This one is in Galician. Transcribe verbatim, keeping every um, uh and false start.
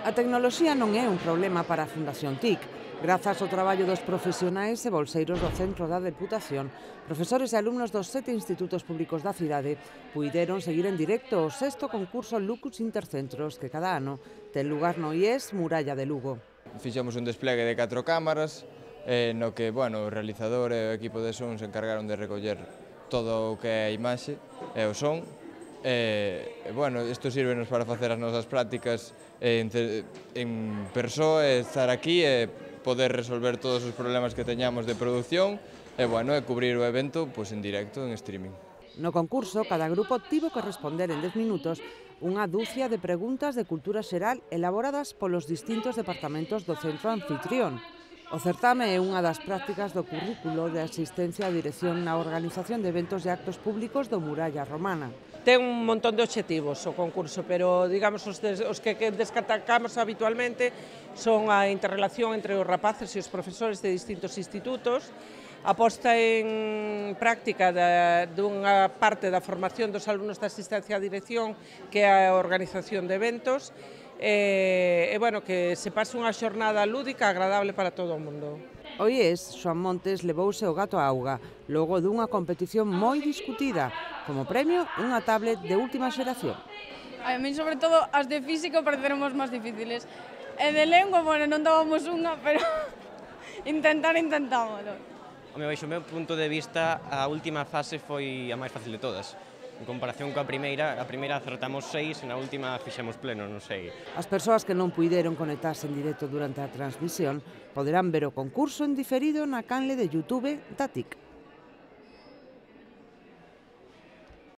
A tecnoloxía non é un problema para a Fundación T I C. Grazas ao traballo dos profesionais e bolseiros do Centro da Deputación, profesores e alumnos dos sete institutos públicos da cidade puideron seguir en directo o sexto concurso Lucus Intercentros que cada ano ten lugar no I E S Muralla de Lugo. Fixemos un despliegue de catro cámaras, eh, no que bueno, o realizador e o equipo de son se encargaron de recoller todo o que é a imaxe e o son. E, bueno, isto sírvenos para facer as nosas prácticas en, en persoa, estar aquí e poder resolver todos os problemas que teñamos de produción e, bueno, e cubrir o evento pois, en directo, en streaming. No concurso, cada grupo tivo que responder en dez minutos unha dúcia de preguntas de cultura xeral elaboradas polos distintos departamentos do centro anfitrión. O certame é unha das prácticas do currículo de asistencia a dirección na organización de eventos e actos públicos do Muralla Romana. Ten un montón de obxectivos o concurso, pero digamos os, des, os que destacamos habitualmente son a interrelación entre os rapaces e os profesores de distintos institutos, a posta en práctica da, dunha parte da formación dos alumnos de asistencia a dirección, que é a organización de eventos, e, e bueno, que se pase unha xornada lúdica agradable para todo o mundo. O I E S, Xoán Montes, levouse o gato á auga, logo dunha competición moi discutida, como premio unha tablet de última xeración. A mí, sobre todo, as de físico pareceron as máis difíciles. E de lengua, bueno, non dábamos unha, pero intentar, intentámoslo. Home, baixo o meu punto de vista, a última fase foi a máis fácil de todas. En comparación coa primeira, a primeira acertamos seis e na última fixemos pleno, non sei. As persoas que non puideron conectarse en directo durante a transmisión poderán ver o concurso en diferido na canle de YouTube da T I C.